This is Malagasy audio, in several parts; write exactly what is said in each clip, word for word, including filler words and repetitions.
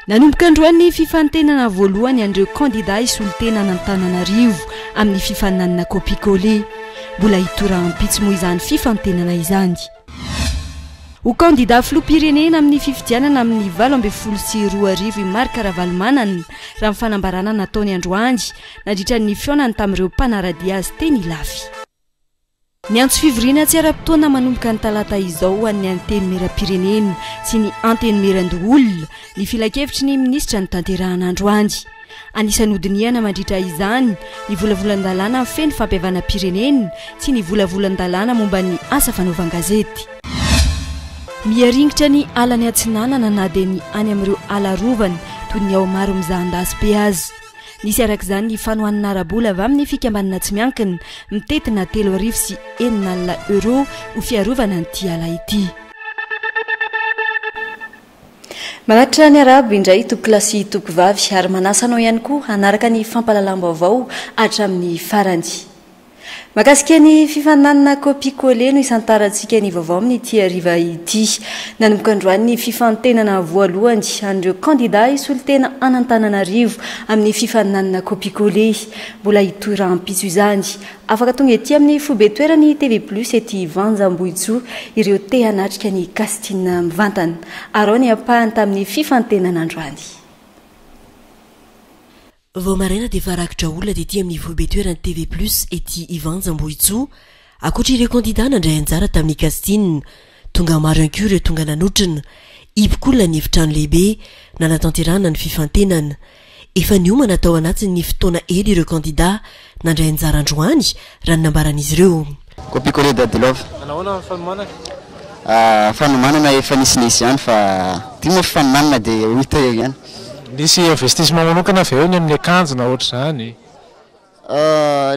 Nanomboka androany ny fifantenana voalohany an'ireo kandida hisolo-tena an'Antananarivo amin'ny fifaninanana copier-coller. Mbola hitohy rahampitso moa izany fifantenana izany. Ho kandida filoham-pirenena amin'ny fifidianana amin'ny valo ambin'ny folo sy roa arivo i Marc Ravalomanana, raha ny fanambarana nataony androany nandritra ny fihaonany tamin'ireo mpanara-dia azy teny Ilafy. Niantso fivoriana tsy ara-potoana manomboka ny talata izao ho an'ny antenimieram-pirenena sy ny antenimierandoholona ny filankevitry ny minisitra notanterahana androany. Anisan'ny hodinihana mandritra izany ny volavolan-dalàna mifehy ny fampihavanam-pirenena sy ny volavolan-dalàna momba ny asa fanaovan-gazety. Miharingitra ny alany atsinanana na dia ny any amin'ireo ala arovana toy ny ao Maromizahandasy be aza. Nisy araka izany ny fanohanana ara-bola avy amin'ny fikambanana tsy miankina mitentina telo arivo sy enina alina euro ho fiarovana an'ity ala ity. Manatitra ny arabo indray tompokolahy sy tompokovavy ary manasa anao ihany koa hanaraka ny fampahalalam-baovao hatramin'ny farany. Mahakasika ny fifaninanana copier-coller no isantarantsika ny vaovao amin'ity hariva ity. Nanomboka androany ny fifantenana voalohany an'ireo kandida hisolo-tena an'Antananarivo amin'ny fifaninanana copier-coller. Mbola hitohy rahampitso izany. Afaka tonga ety amin'ny foibe toerany T V Plus ety Vanja Ambohitsoa ireo te hanatrika ny casting mivantana. Arao ny ampahany tamin'ny fifantenana androany. Vao maraina dia efa rakotra olona tety amin'ny foibe toerany T V Plus ety Ivanja Ambohitsoa. Ankoatra ireo kandida nandray anjara tamin'ny casting, tonga maro ihany koa ireo tonga nanotrona. Hipoka olona ny efitrano lehibe nanatanterahana ny fifantenana. Efa niomana tao anatin'ny fotoana ela ireo kandida nandray anjara androany, raha ny nambaran'izy ireo. Copier-coller Dadi Love. Nahoana ny fanomanana? Fanomanana efa nisinisy ihany, fa ty moa fanomanana dia ho hita eo ihany. Nisy investissement manokana avy eo ny amin'ny akanjo na ohatr'izany?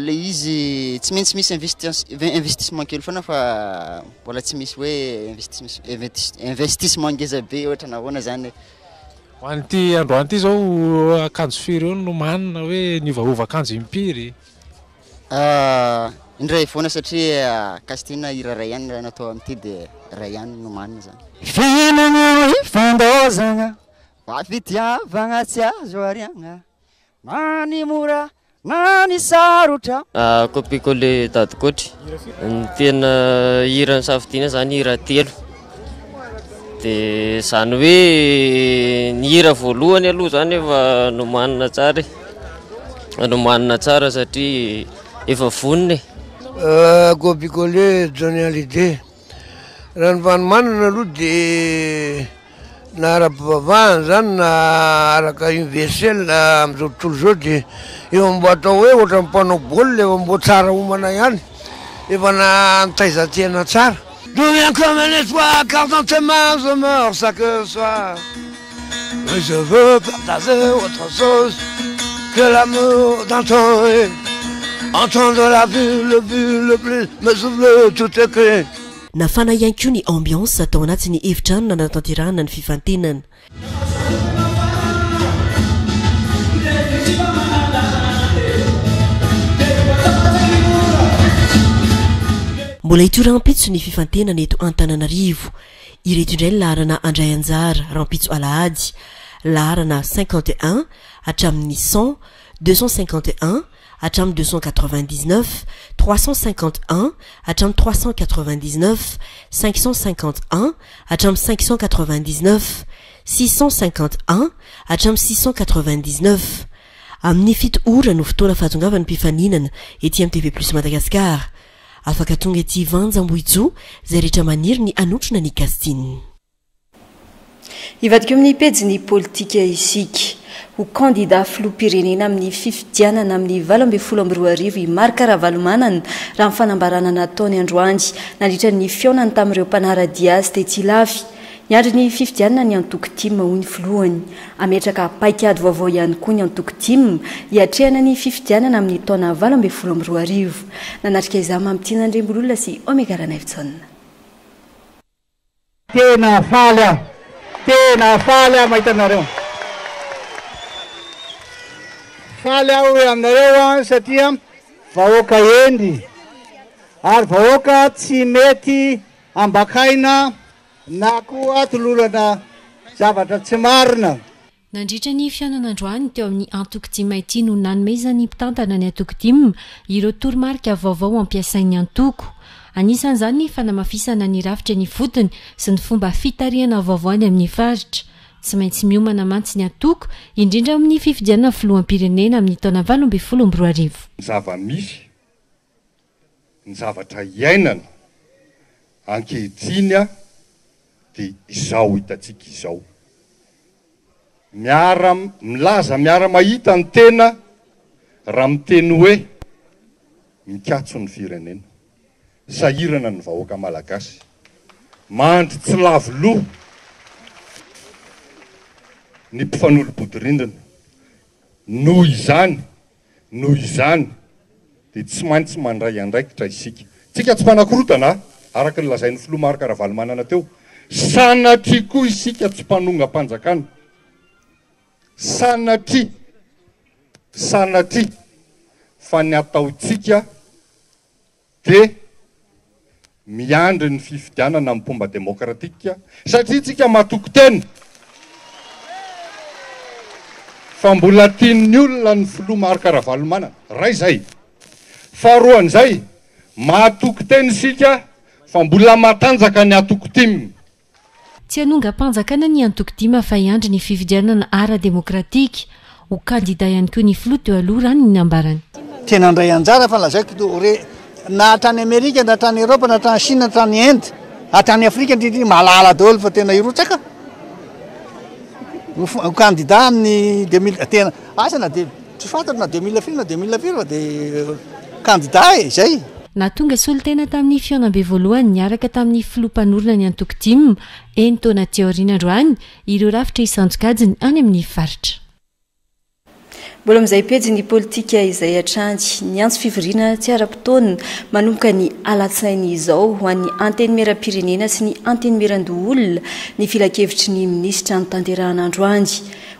Le izy tsy maintsy misy investi- investissement kely foana, fa mbola tsy misy hoe investi- investissement ngeza be ohatra nahoana zany. Ho an'ity androany ity zao, akanjo firy eo no nomanina, hoe niovaova akanjo impiry? Indray foana, satria casting hira ray ihany raha natao amin'ity, de ray ihany nomanina zany. Fiainana ifandozana fa fitiavagna tsy azo ariagna, na ny mora na ny sarotra. Copier-coller Daddy Coach. Ny tena hira nisafidiana zany hira telo, de zany hoe ny hira voalohany aloha zany efa nomanina tsara e, nomanina tsara satria efa vonona e. Copier-coller Johnny Hallyday. Raha ny fanomanana aloha de na ara-pivavahana zany na araka universel am'izao tontolo zao, de efa mbo atao hoe ohatra mpanao baolina, efa mbo tsara homana ihany, efa na nitaizantena tsara. Deviens comme un étoile, car dans tes mains je meurs chaque soir. Et je veux partager autre chose que l'amour d'un temps et entendre la vie, le but, le plus, me souffle tout écrit. Nafana ihany koa ny ambiance tao anatin'ny efitrano nanatanterahana ny fifantenana. Mbola hitohy rahampitso ny fifantenana eto Antananarivo. Ireto indray ny laharana andray anjara rahampitso alahady: laharana cinquante et un hatramin'ny cent, deux cent cinquante et un hatramin'ny deux cent quatre-vingt-dix-neuf, trois cent cinquante et un hatramin'ny trois cent quatre-vingt-dix-neuf, cinq cent cinquante et un hatramin'ny cinq cent quatre-vingt-dix-neuf, six cent cinquante et un hatramin'ny six cent quatre-vingt-dix-neuf. Amin'ny fito ora no fotoana fahatongavan'ny mpifaninana ety amin'ny T V Plus Madagascar. Afaka tonga ety Vanja Ambohitsoa zay rehetra maniry ny hanotrona ny casting. Hivadika amin'ny pejy ny politika isika. Ho kandida filoham-pirenena amin'ny fifidianana amin'ny valo ambin'ny folo amby roa arivo i Marc Ravalomanana, raha ny fanambarana nataony androany nandritra ny fihaonany tamin'ireo mpanara-dia azy tety Ilafy. Niandry ny fifidianana ny antoko TIM, hoy ny filohany. Ametraka paikady vaovao ihany koa ny antoko TIM hiatrehana ny fifidianana amin'ny taona valo ambin'ny folo amby roa arivo. Nanatrika izany Mamitiana Andriambololona sy Omega Ranaivjaona. Tena faly aho, tena faly aho mahita anareo. Faly aho hoe aminareo a, satria vahoaka hendry ary vahoaka tsy mety ambakaina na koa tolorana zavatra tsy marina. Nandritra ny fihaonana androany teo amin'ny antoko T I M ity no nanomezan'ny mpitantana ny antoko T I M ireo toromarika vaovao ampiasain'ny antoko. Anisan'izany ny fanamafisana ny rafitra ny fotony sy ny fomba fitarihana vaovao any amin'ny faritra. Tsy maintsy miomana mantsy ny antoko, indrindra amin'ny fifidianana filoham-pirenena amin'ny taona valo amby folo amby roa arivo. Ny zava-misy, ny zavatra iainana ankehitriny a dia izao hitantsika izao, miara milaza, miara mahita ny tena raha miteny hoe mikatso ny firenena, sahirana ny vahoaka malagasy, mandry tsy lavo loha ny mpifanolo-bodirindrina. Noho izany noho izany dia tsy maintsy mandray andraikitra isika. Tsika tsy mpanakorotana, araka ny lazain'ny filoha Marc Ravalomanana teo. Sanatria koa isika tsy mpanongam-panjakana, sanatria, sanatria, fa ny ataontsika dia miandry ny fifidianana amin'ny fomba demokratika, satria tsika matoky tena fa mbola tian'ny olona ny filoha Marc Ravalomanana ray zay. Faharoan'izay, mahatoky tena isika fa mbola matanjaka ny antoko T I M. Tsy hanongam-panjakana ny antoko T I M fa hiandry ny fifidianana ara-demokratika. Ho kandida ihany koa ny filoha teo aloha, raha ny nambarany. Tena andray anjara fa lazaiko to re, na hatrany Amerika, na hatrany Eropa, na hatrany Chine, hatrany Inde, hatrany Afrika indrindra, mahalala daholo fa tena hirotsaka ho candidat amin'ny deux mille, tena asa na de tsy fantatra na deux mille firy na deux mille firy, fa de candidat e zay. Na tonga solontena tamin'ny fihaonambe voalohany niaraka tamin'ny filoha mpanorina ny antoko T I M enin-taona teo aoriana androany ireo rafitra isan-tsokajiny any amin'ny faritra. Mbola amin'izay pejy ny politika izay hatrany, ny antso fivoriana tsy ara-potoana manomboka ny alatsinainy izao ho an'ny antenimieram-pirenena sy ny antenimieran-doholona ny filankevitry ny minisitra notanterahana androany.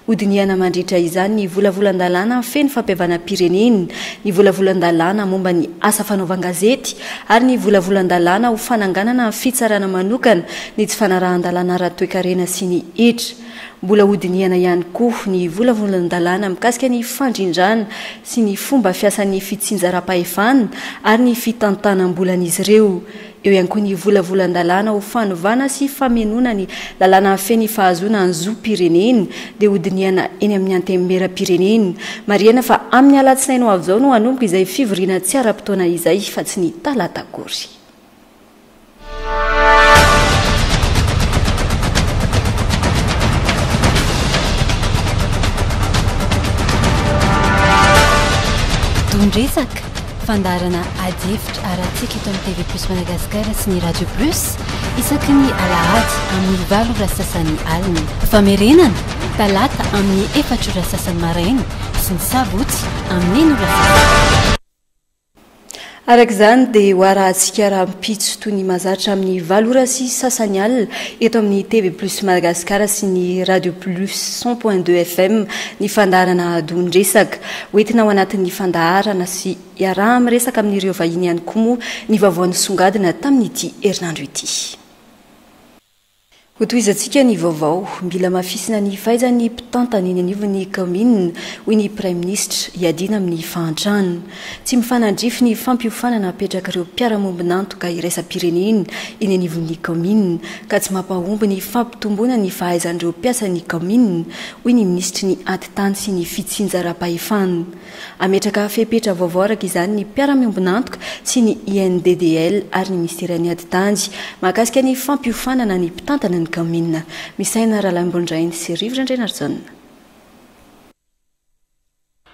Hodinihana mandritra izany ny volavolan-dalàna feno fampihavanam-pirenena, ny volavolan-dalàna momba ny asa fanaovan-gazety ary ny volavolan-dalàna ho fananganana ny fitsarana manokana ny tsy fanarahan-dalàna ara-toekarena sy ny hetra. Mbola hodinihana ihany koa ny volavolan-dalàna mikasika ny fandrindrana sy ny fomba fiasan'ny fitsinjaram-pahefana ary ny fitantanam-bolan'izy ireo. Eo ihany koa ny volavolan-dalàna ho fanovana sy famenoana ny lalàna mifehy ny fahazoana ny zom-pirenena, dia hodinihana eny amin'ny antenimieram-pirenena. Marihana fa amin'ny alatsinainy ho avy izao no hanomboka izay fivoriana tsy ara-potoana izay fa tsy ny talata akory. Don-dresaka, fandaharana ady hevitra arahantsika eto amin'ny T V Plus Madagasikara sy ny Radio Plus isaky ny alahady amin'ny valo ora sasany alina. Famerenana talata amin'ny efatra ora sasany maraina sy ny sabotsy amin'ny enina ora sasany. Araka izany dia ho arahantsika rahampitso toy ny mahazatra amin'ny valo ora sy sasany alina eto amin'ny T V Plus Madagasikara sy ny Radio Plus cent point deux F M ny fandaharana Don-dresaka. Hoentina ao anatin'ny fandaharana sy iaraha miresaka amin'ireo vahiny ihany koa moa ny vaovao nisongadina tamin'ity herinandro ity. Hotohizantsika ny vaovao. Mila hamafisina ny fahaizan'ny mpitantana eny anivon'ny kaominina, hoy ny praiminisitra, hiadiana amin'ny fahantrana. Tsy mifanandrify ny fampiofanana apetraka ireo mpiara-miombon'antoka iraisam-pirenena eny anivon'ny kaominina, ka tsy mampahomby ny fampitomboana ny fahaizan'ireo mpiasan'ny kaominina, hoy ny minisitry ny ati-tany sy ny fitsinjaram-pahefana. Ametraka fepetra vaovao araka izany ny mpiara-miombon'antoka sy ny I N D D L ary ny ministeran'ny ati-tany mahakasika ny fampiofanana ny mpitantana ny kaominina. Misaina Rahalahimbondrainy sy Rivotra Andrianarijaona.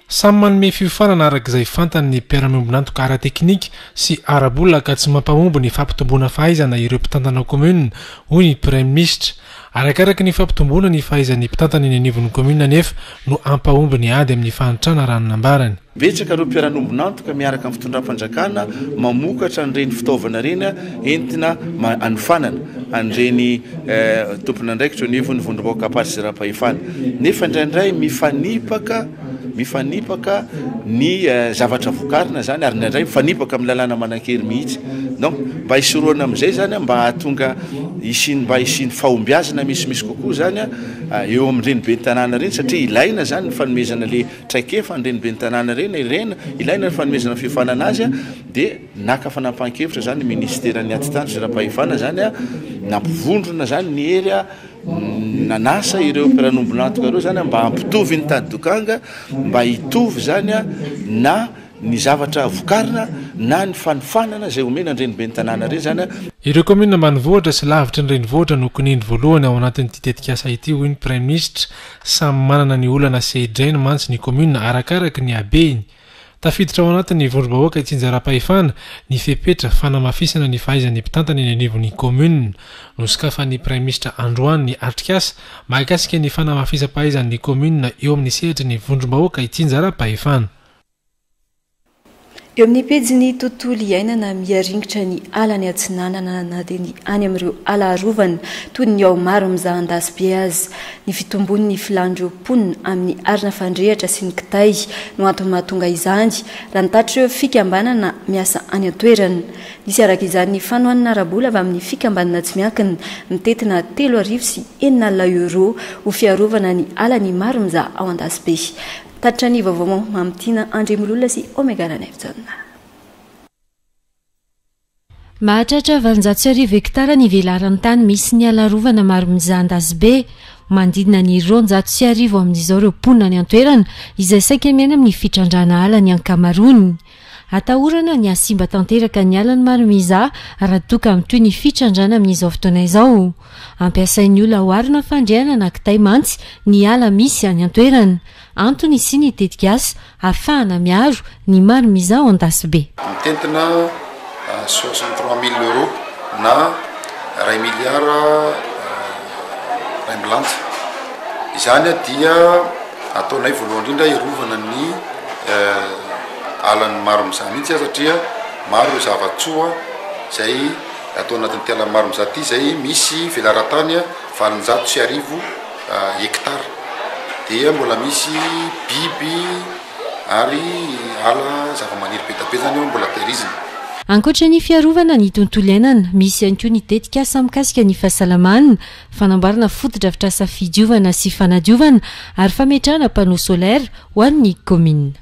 Samy manome fiofanana araka izay fantany ny mpiara-miombon'antoka ara-teknika sy ara-bola, ka tsy mampahomby ny fampitomboana fahaizana ireo mpitantana commune, hoy ny praiminisitra. Arakaraka ny fampitomboana ny fahaizan'ny mpitantana eny anivon'ny commune nefa no ampahomby ny ady amin'ny fahantrana, raha ny nambarany. Betsaka ireo mpiara-miombon'antoka miaraka amin'ny fitondram-panjakana mamokatra an'ireny fitaovana ireny entina anofanana an'ireny tompon'andraikitra eo anivon'ny vondrom-bahoaka ampahatsizaram-pahefana, nefa indraindray mifanipaka mifanipaka ny zavatra vokarina zany, ary indraindray mifanipaka amin'ny lalàna manan-kery mihitsy. Donc mba hisoroana amin'izay zany, mba hahatonga isiny mba hisian'ny fahombiazana misimisy kokoa zany a eo amin'ireny ben'ny tanàna ireny, satria ilaina zany ny fanomezana le traikefa an'ireny ben'ny tanàna ireny, ireny ilaina ny fanomezana fiofanana azy. Dia naka fanapahan-kevitra zany ny ministeran'ny atitany sy raha-pahefana zany a, nampivondrona zany ny hery a, nanasa ireo mpiara-miombon'antoka ireo zany mba hampitovy ny tady dokanga, mba hitovy zany a na ny zavatra vokarina na ny fanofanana izay omena an'ireny ben'ny tanàna ireny zany a. Ireo kaominina ambanivohitra sy lavitry ny renivohitra no kinindry voalohany ao anatin'ity tetikasa ity, hoy ny praiminisitra. Samy manana ny olana sedrainy mantsy ny kaominina arakaraka ny habehiny. Tafiditra ao anatin'ny vondrom-bahoaka itsinjaram-pahefana ny fepetra fanamafisana ny fahaizan'ny mpitantana eny anivon'ny kaominina. Nosokafan'ny praiminisitra androany ny atrikasa mahakasika ny fanamafisam-pahaizan'ny kaominina eo amin'ny sehatry ny vondrom-bahoaka itsinjaram-pahefana. Eo amin'ny pejin'ny tontolo iainana, miaringitra ny ala ny atsinanana na dia ny any amin'ireo ala arovana toy ny ao Maromizaha Andasibe aza. Ny fitombon'ny filan'ireo mponina amin'ny arina fandrehatra sy ny kitay no antony mahatonga izany, raha nitatitra ireo fikambanana miasa any an-toerana. Nisy araka izany ny fanohanana ara-bola avy amin'ny fikambanana tsy miankina mitentina telo arivo sy enina alina euro ho fiarovana ny ala ny Maromizaha ao Andasibe. Tatitra ny vaovao Mamitiana Andriamololona sy Omega Ranaivojaona. Mahatratra valonjato sy arivo hektara ny velaran'ny tany misy ny ala arovana Maromizaha Andasibe. Manodidina ny roanjato sy arivo amin'izao ireo mponina any an-toerana izay saika miaina amin'ny fitrandrahana ala ny ankamaroany. Atahorana ny hasimba tanteraka ny alan'ny Maromizaha raha toa ka mitohy ny fitrandrahana amin'izao fotoana izao. Ampiasain'ny olona ho arina fandriana na kitay mantsy ny ala misy any an-toerana. Antony sy ny tetikasa ahafahana miaro ny Maromizaha ao Andasibe. Mitentina soixante-trois mille euros na iray miliara iray amby lanja. Izany dia ataonay voalohany indrindra hiarovana ny alan'ny Maromizaha mihitsy, satria maro ireo zava-tsoa izay atao anatin'ity alan'ny Maromizaha ity, izay misy velaran-tany valonjato sy arivo hektara. Dia mbola misy biby ary ala zava-maniry be dia be zany eo mbola tehirizina. Ankoatra ny fiarovana ny tontolo iainana, misy ihany koa ny tetikasa mikasika ny fahasalamana, fanamboarana fotodrafitrasa fidiovana sy fanadiovana ary fametrahana panneau solaire ho an'ny kaominina.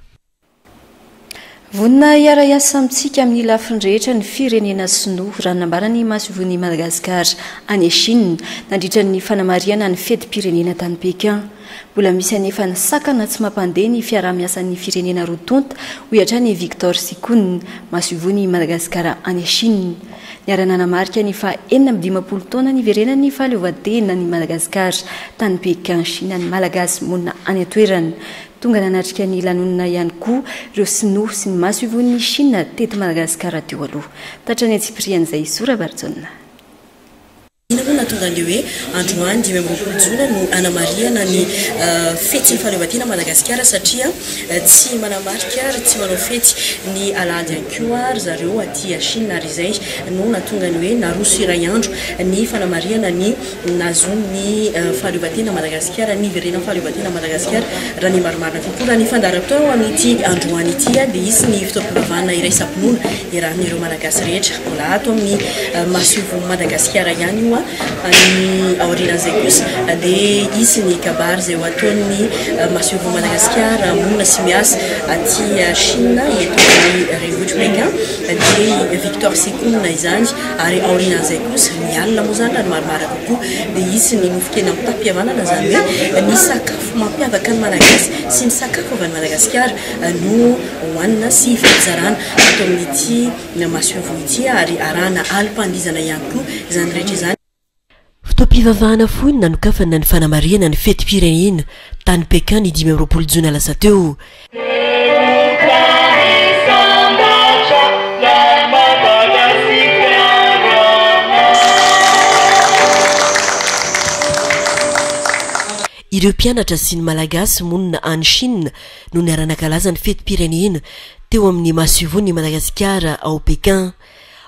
Vonona hiara-hiasa amintsika amin'ny lafiny rehetra ny firenena sinoa, raha nambaran'ny masoivohon'i Madagasikara any Chine nandritra ny fanamarihana ny fetim-pirenena tany Pékin. Mbola misy anefa ny sakana tsy mampandeha ny fiaraha-miasan'ny firenena roa tonta, hoy hatrany Victor Sikun, masoivohon'i Madagasikara any Chine. Niara-nanamarika ny faha enina amby dimampolo taona niverenan'ny fahaleovantena ny Madagasikara tany Pékin, Chine ny Malagasy monina any an-toerana. Tonga nanatrika ny lanonana ihany koa ireo sinoa sy ny masoivohon'ny Chine teto Madagasikara teo aloha. Tatra ny antsipirian'izay Zora Barjaona. Inona moa nahatonga an'ilay hoe androany dimy amby roapolo jona no anamarihana ny fetin'ny fahaleovantena Madagasikara, satria tsy manamarika ary tsy manao fety ny alahady ihany koa ry zareo aty Chine, ary izay no nahatonga ny hoe naroso iray andro ny fanamarihana ny nahazoan'ny fahaleovantena Madagasikara, ny niverenan'ny fahaleovantena Madagasikara raha ny marimarina kokoa. Raha ny fandaharam-potoana ho amin'ity androany ity dia hisy ny fotoam-pivavahana iraisam-pinoana iarahan'ireo Malagasy rehetra mbola ato amin'ny masoivoho Madagasikara ihany io. Ny aorianan'izay kosa dia hisy ny kabary izay ho ataon'ny masoivoho Madagasikara monina sy miasa aty Chine eto amin'ny renivohitr'i Pékin, dia Victor Sikun izany. Ary aorianan'izay kosa ny alina moa izany raha ny marimarina kokoa dia hisy ny nofon-kena mitam-pihavanana, izany hoe ny sakafo mampiavaka ny Malagasy sy ny sakafo avy any Madagasikara no hohanina sy fampizarana ato amin'ity masoivoho ity, ary arahana alim-pandihizana ihany koa izany rehetra izany. Fotoam-pivavahana fohy no nanokafana ny fanamarihana ny fetim-pirenena tany Pékin ny dimy amby roapolo jona lasa teo. Ireo mpianatra sy ny Malagasy monina any Chine no niara-nankalaza ny fetim-pirenena teo amin'ny masoivohon'i Madagasikara ao Pékin.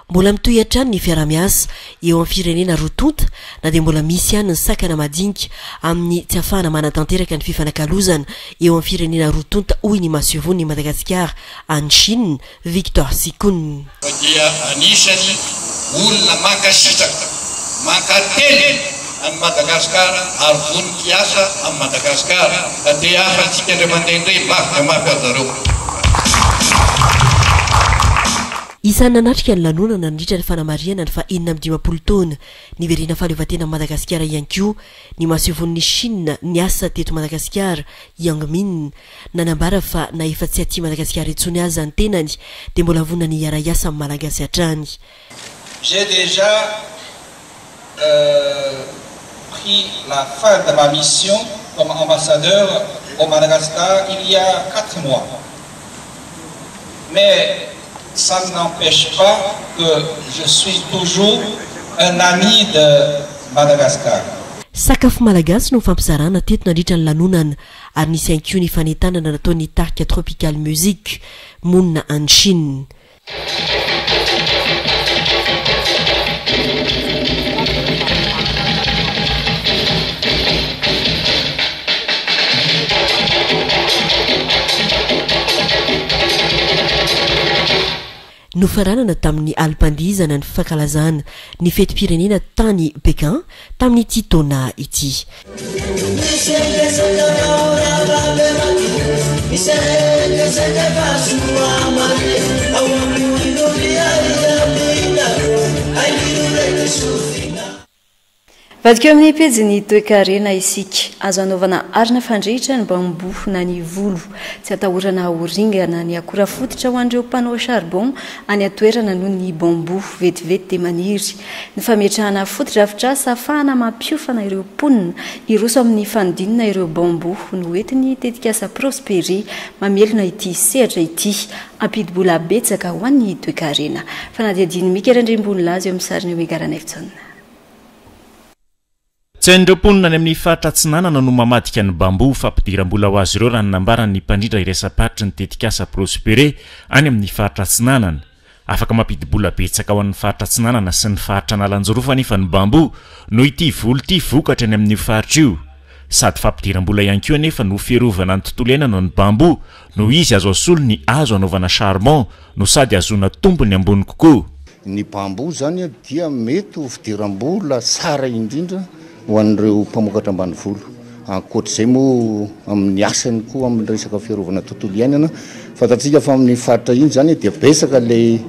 Mbola mitohy hatrany ny fiaraha-miasa eo amin'ny firenena roa tonta, na dia mbola misy ihany ny sakana madinika amin'ny tsy ahafahana manatanteraka ny fifanakalozana eo amin'ny firenena roa tonta, hoy ny masoivohon'i Madagasikara any Chine, Victor Sikun. Dia anisany olona mankasitraka, mankateny an'i Madagasikara ary vonon hiasa amin'i Madagasikara. Ka dia afantsika indray mandeha indray mafy dia mafy azy zareo. Isan'ny nanatrika ny lanonana nandritra ny fanamarihana ny faha enina amby dimampolo taona niverenan'ny fahaleovantenan'i Madagasikara ihany koa ny masoivohon'i Chine niasa teto Madagasikara, Yang Min. Nanambara fa na efa tsy aty Madagasikara intsony aza ny tenany dia mbola vonona ny hiara-hiasa amin'ny Malagasy hatrany. J'ai déjà euh, pris la fin de ma mission comme ambassadeur au Madagascar il y a quatre mois. Mais ça n'empêche pas que je suis toujours un ami de Madagascar. Sakafo malagasy no fampizarana teto nandritra ny lanonana ary nisy ihany koa ny fanentanana nataon'ny tarika Tropical Music monina any Chine. Nofaranana tamin'ny alim-pandihizana ny fankalazana ny fetim-pirenena tany Pékin tamin'ity taona ity. Vadika eo amin'ny pejy toekarena isika. Azo anaovana arina fandrehitra ny bambo na ny volo. Tsy atahorana ho ringana ny akora fototra ho an'ireo mpanao charbon any an-toerana noho ny bambo vetivety dia maniry. Ny fametrahana fotodrafitrasa ahafahana mampiofana ireo mponina hiroso amin'ny fanodinana ireo bambo no entin'ny tetikasa Prosperi mamelona ity sehatra ity. Ampidi-bola betsaka ho an'ny toekarena. Fanadihadian'i Mika Randriambonilaza eo amin'ny sariny Omega Ranaivojaona. Tsy hain'ireo mponina any amin'ny faritra Atsinanana no mamadika ny bambo fampidiram-bola ho azy ireo raha ny nambaran'ny mpandrindra iraisam-paritry ny tetikasa Prospere any amin'ny faritra Atsinanana. Afaka mampidi-bola betsaka ho an'ny faritra Atsinanana sy ny faritra Analanjirofo anefa ny bambo noho ity voly ity vokatra any amin'io faritra io. Sady fampidiram-bola ihany koa anefa no fiarovana ny tontolo iainana ny bambo noho izy azo asolo ny hazo anaovana charbon no sady ahazoana tombony ambony kokoa. Ny bambo zany dia mety ho fidiram-bola tsara indrindra ho an'ireo mpamokatra ambanivolo. Ankoatr'izay moa amin'ny asany koa amin'ny resaka fiarovana tontolo iainana, fantatsika fa amin'ny faritra iny zany dia betsaka ilay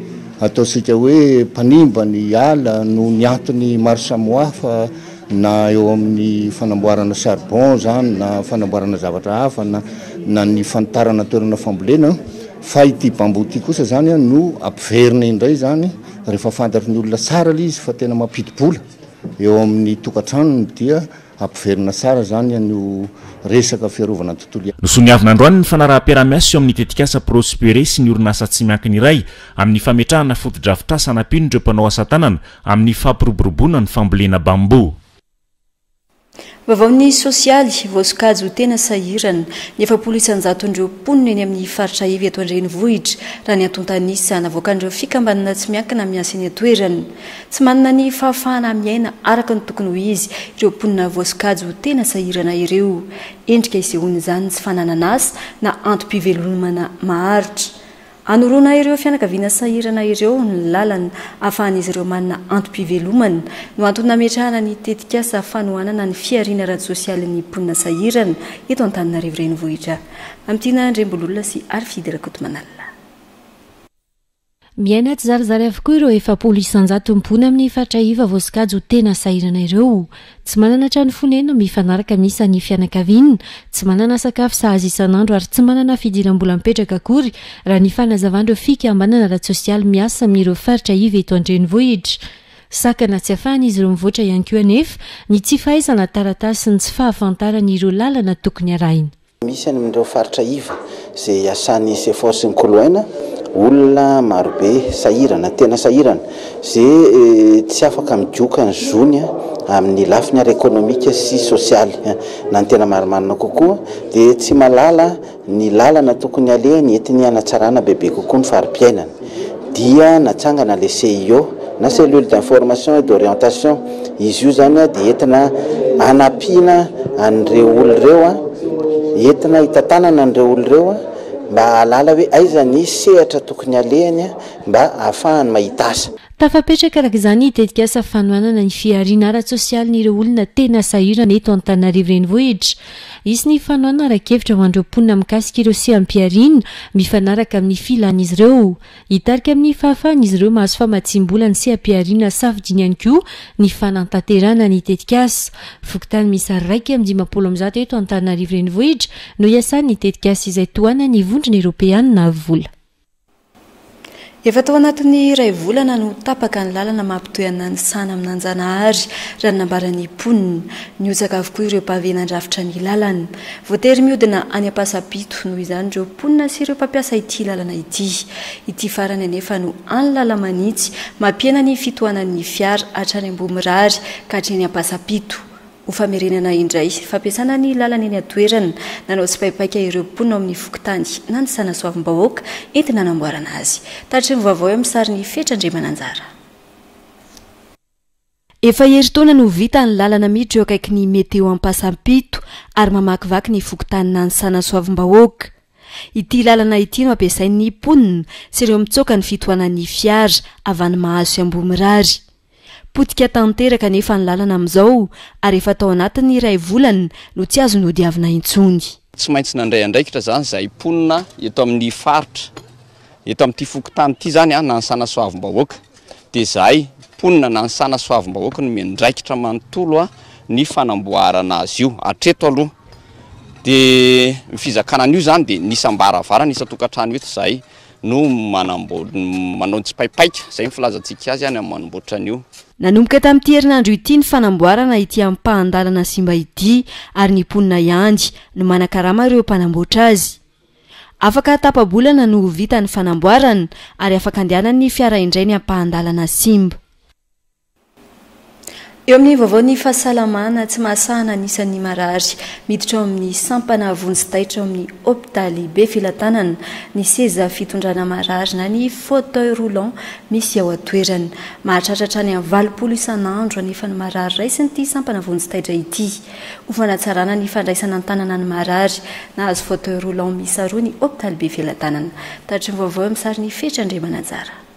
ataontsika hoe mpanimba ny ala noho ny antony maro samihafa, na eo amin'ny fanamboarana charbon zany, na fanamboarana zavatra hafa, na, na ny fanitarana toerana fambolena. Fa ity bambo ity kosa zany no ampiverina indray zany rehefa fantatry ny olona tsara ilay izy fa tena mampidi-bola eo amin'ny tokantranony, dia ampiverina tsara zany an'io resaka fiarovana ny tontolo iainana. Nosoniavina androany ny fanaraham-piaraha-miasa eo amin'ny tetikasa Prospere sy ny orinasa tsy miankina iray amin'ny fametrahana fotodrafitrasa hanampiana ireo mpanao asa tanana amin'ny fampiroboroboana ny fambolena bambo. Vaovao ny sosialy voasokajy ho tena sahirana ny efapolo isan-jaton'ireo mponina eny amin'ny faritra ivy eto an-drenivohitra raha ny antontan'isa navoakan'ireo fikambanana tsy miankina miasa eny an-toerana. Tsy manana ny fahafahana miaina araka ny tokony ho izy ireo mponina voasokajy ho tena sahirana ireo. Endrika isehoan'izany tsy fananana asa na antom-pivelomana maharitra. Anoroana ireo fianakaviana sahirana ireo ny lalana ahafahan'izy ireo manana antom-pivelomana no antony nametrahana ny tetikasa fanohanana ny fihariana ara-tsosialin'ny mponina sahirana eto Antananarivo renivohitra. Amintiana Andriambololona sy Arfidy Rakotomanalina. Miaina tsy zarizary avokoa ireo efapolo isan-jato mponina amin'ny faritra iva voasokajy ho tena sahirana ireo. Tsy manana trano fonenana mifanaraka amin'ny isan'ny fianakaviana, tsy manana sakafo sahaza isan'andro ary tsy manana fidiram-bola mipetraka akory raha ny fanazavan'ireo fikambanana ara-tsosialy miasa amin'ireo faritra iva eto an-drenivohitra. Sakana tsy ahafahan'izy ireo mivoatra ihany koa anefa ny tsy fahaizana taratasy sy ny tsy fahafantarana ireo lalana tokony arahina. Misy any amin'ireo faritra iva izay asan'ny S E F O sy ny Koloaina, olona marobe sahirana, tena sahirana, izay tsy afaka migoka ny zony amin'ny lafiny ara-ekonomika sy sosialy. Na ny tena marimarina kokoa dia tsy mahalala ny lalana tokony alehany entiny hanatsarana bebe kokoa ny fari-piainana. Dia natsangana le C I O na cellule d'information et d'orientation. Izy io zany dia entina hanampiana an'ireo olona ireo, entina hitantanana an'ireo olona ireo mba hahalala hoe aiza ny sehatra tokony alehany mba ahafahany mahita asa. Tafapetraka araka izany ny tetikasa fanohanana ny fihariana ara-tsosialin'ireo olona tena sahirana eto Antananarivo Renivohitra. Hisy ny fanohanana ara-kevitra ho an'ireo mponina mikasika ireo seham-pihariana mifanaraka amin'ny filan'izy ireo. Hitarika amin'ny fahafahan'izy ireo mahazo famatsiam-bola ny seham-pihariana safidiany ihany koa ny fanatanterahana ny tetikasa. Fokontany miisa iraika amby dimampolo amby zato eto Antananarivo Renivohitra no iasan'ny tetikasa izay tohanan'ny Vondrona Eoropeanina vola. Efa tao anatin'ny iray volana no tapaka ny lalana mampitohy an'Nanisana amin'Anjanahary, raha ny nambaran'ny mponina. Nihotsaka avokoa ireo pavé nandrafitra ny lalana. Voatery mihodina any Ampasampito noho izany ireo mponina sy ireo mpampiasa ity lalana ity. Ity farany anefa no any lala-manitsy mampihena ny fitohanan'ny fiara hatrany Ambohimirary ka hatreny Ampasampito. Ho famerenana indray fampiasana ny lalana eny an-toerana, nanao tsipaipaika ireo mponina ao amin'ny fokontany Nanisana Soavimbahoaka entina hanamboarana azy. Tatry ny vaovao eo amin'ny sarin'i Fetra Andriamananjara. Efa herintaona no vita ny lalana miditra eo akaikin'ny Meteo Ampasampito ary mamakivaky ny fokontany Nanisana Soavimbahoaka. Ity lalana ity no ampiasain'ny mponina sy ireo mitsoaka ny fitohanan'ny fiara avy any Mahazo sy Ambohimirary. Potika tanteraka anefa ny lalana amin'izao ary efa tao anatin'ny iray volana no tsy azo nodiavina intsony. Tsy maintsy nandray andraikitra izany izahay mponina eto amin'ny faritra, eto amin'ity fokontany ity izany, Nanisana Soavimbahoaka. Dia izahay mponina Nanisana Soavimbahoaka no miandraikitra manontolo ny fanamboarana azy io hatreto aloha. Dia ny fizakana an'io izany dia ny isam-baravarana, isan-tokantrano eto izahay no manamboatra, manao ny tsipaipaika, izay ny filazantsika azy any amin'ny manamboatra an'io. Nanomboka tamin'ity herinandro ity ny fanamboarana ity ampahan-dalana simba ity ary ny mponina ihany no manakarama ireo mpanamboatra azy. Afaka tapa-bolana no ho vita ny fanamboarana ary afaka andehanan'ny fiara indray ny ampahan-dalana simba. Eo amin'ny vaovaon'ny fahasalamana, tsy mahasahana ny isan'ny marary miditra ao amin'ny sampana vonjy taitra ao amin'ny hopitaly Befelatanana ny seza fitondrana marary na ny fauteuil roulant misy ao an-toerana. Mahatratra hatrany amin'ny valopolo isan'andro anefa ny marary raisin'ity sampana vonjy taitra ity. Ho fanatsarana ny fandraisana an-tanana ny marary, nahazo fauteuil roulant miisa roa ny hopitaly Befelatanana. Tatry ny vaovao eo amin'ny sarin'i Fetra Andriamananjara.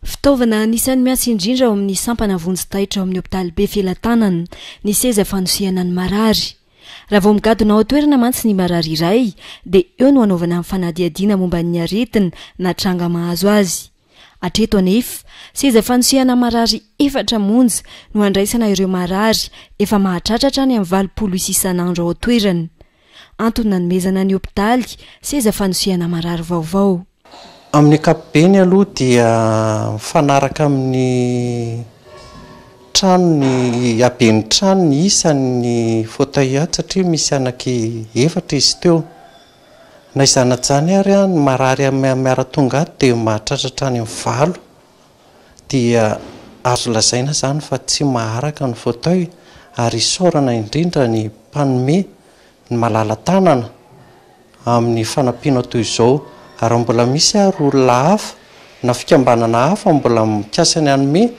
Fitaovana anisan'ny miasa indrindra ao amin'ny sampana vonjy taitra ao amin'ny hopitaly Befelatanana ny seza fanosehana ny marary. Raha vao migadona ao an-toerana mantsy ny marary iray dia eo no hanaovana ny fanadihadiana momba ny aretina na tranga mahazo azy. Hatreto anefa, seza fanosehana marary efatra monja no andraisana ireo marary efa mahatratra hatrany amin'ny valopolo isa isan'andro ao an-toerana. Antony nanomezana ny hopitaly seza fanosehana marary vaovao. Amin'ny ankapobeny aloha dia mifanaraka amin'ny trano ny haben'ny trano ny isan'ny fauteuil ato satria misy anaky efatra izy teo. Na izany na izany ary ny marary miara-tonga ato dia mahatratra hatrany amin'ny valo. Dia azo lazaina izany fa tsy maharaka ny fauteuil ary isaorana indrindra ny mpanome ny malala-tanana amin'ny fanampiana toy izao. Ary mbola misy ary olona hafa na fikambanana hafa mbola mikasa ny hanome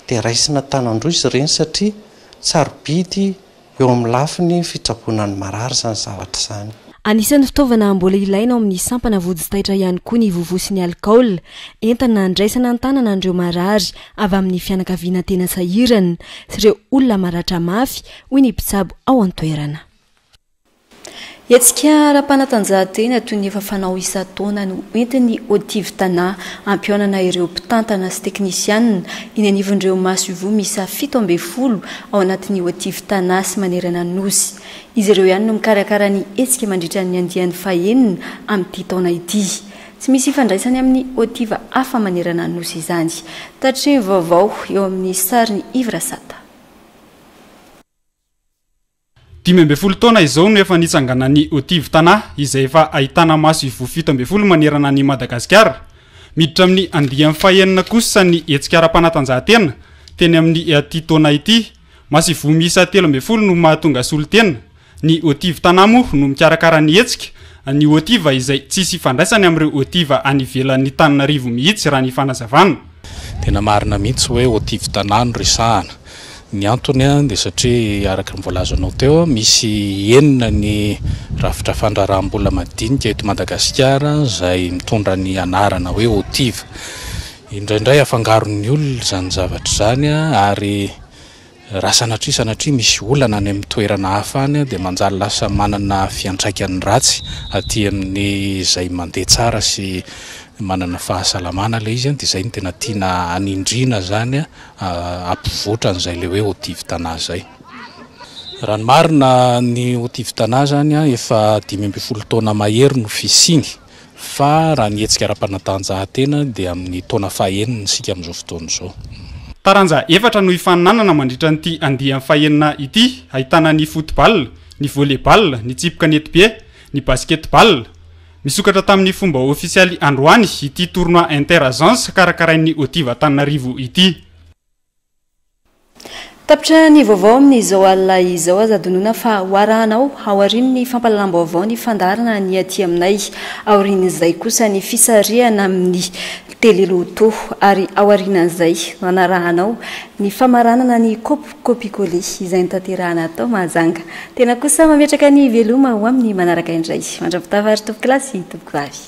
dia raisina tanan-droa izy ireny satria sarobidy eo amin'ny lafiny fitsaboana ny marary izany zavatra izany. Anisan'ny fitaovana mbola ilaina ao amin'ny sampana vonjy taitra ihany koa ny vovo sy ny alikaola, entana andraisana an-tanana an'ireo marary avy amin'ny fianakaviana tena sahirana sy ireo olona maratra mafy, hoy ny mpitsabo ao an-toerana. Hetsika ara-panatanjahantena toy ny efa fanao isan-taona no entin'ny Otiv Tana hampihaonana ireo mpitantana sy teknisianina eny anivon'ireo masoivoho miisa fito ambin'ny folo ao anatin'ny Otiv Tana sy manerana ny Nosy. Izy ireo ihany no mikarakara ny hetsika mandritra ny andiany fahenina amin'ity taona ity. Tsy misy ifandraisany amin'ny Otiv hafa manerana ny Nosy izany. Tatry ny vaovao eo amin'ny sarin'i Yves Rasata. Dimy ambin'ny folo taona izao no efa nitsanganan'ny Otiv Tana izay efa ahitana masoivoho fito ambin'ny folo manerana ny Madagasikara. Miditra amin'ny andiany fahenina kosa ny hetsika ara-panatanjahantena teny amin'ny ity taona ity. Masoivoho miisa telo ambin'ny folo no mahatonga solontena. Ny Otiv Tana moa no mikarakara ny hetsika. Ny Otiv izay tsisy ifandraisany amin'ireo Otiv any ivelan'ny Tananarivo mihitsy raha ny fanazavana. Tena marina mihitsy hoe Otiv Tana no resahana. Ny antony dia satria araka ny voalazanao teo, misy enina ny rafitra fandraharaham-bola madinika eto Madagasikara izay mitondra ny anarana hoe Otiv. Indraindray afangaron'ny olona izany zavatra izany, ary raha sanatria sanatria misy olana any amin'ny toerana hafa any, dia manjary lasa manana fiantraikany ratsy aty amin'ny izay mandeha tsara sy manana fahasalamana ilay izy. Dia izay no tena tiana hanindriana zany, hampivoatra an'izay ilay hoe Otiv Tana izay. Raha ny marina, ny Otiv Tana zany efa dimy ambin'ny folo taona mahery no fisiany, fa raha ny hetsika ara-panatanjahantena dia amin'ny taona fahenina isika amin'izao fotoana izao. Taranja efatra no hifaninanana mandritra nyity andiany fahenina ity, ahitana ny football, ny volley-ball, ny tsipy kanetibe, ny basketball. Misokatra tamin'ny fomba ofisialy androany ity tournoi inter-agence karakarain'ny Otiv Antananarivo ity. Tapitra ny vaovao amin'izao alina izao. Aza adinoina fa hoarahanao aorian'ny fampahalalam-baovao ny fandaharana ny aty aminay, aorian'izay kosa ny fisarihana amin'ny teleloto, ary aorianan'izay no anarahanao ny famaranana ny copier-coller izay notanterahana atao Mahajanga. Tena kosa mametraka ny veloma ho amin'ny manaraka indray. Mandra-pitafa ary tompokolahy sy tompokovavy.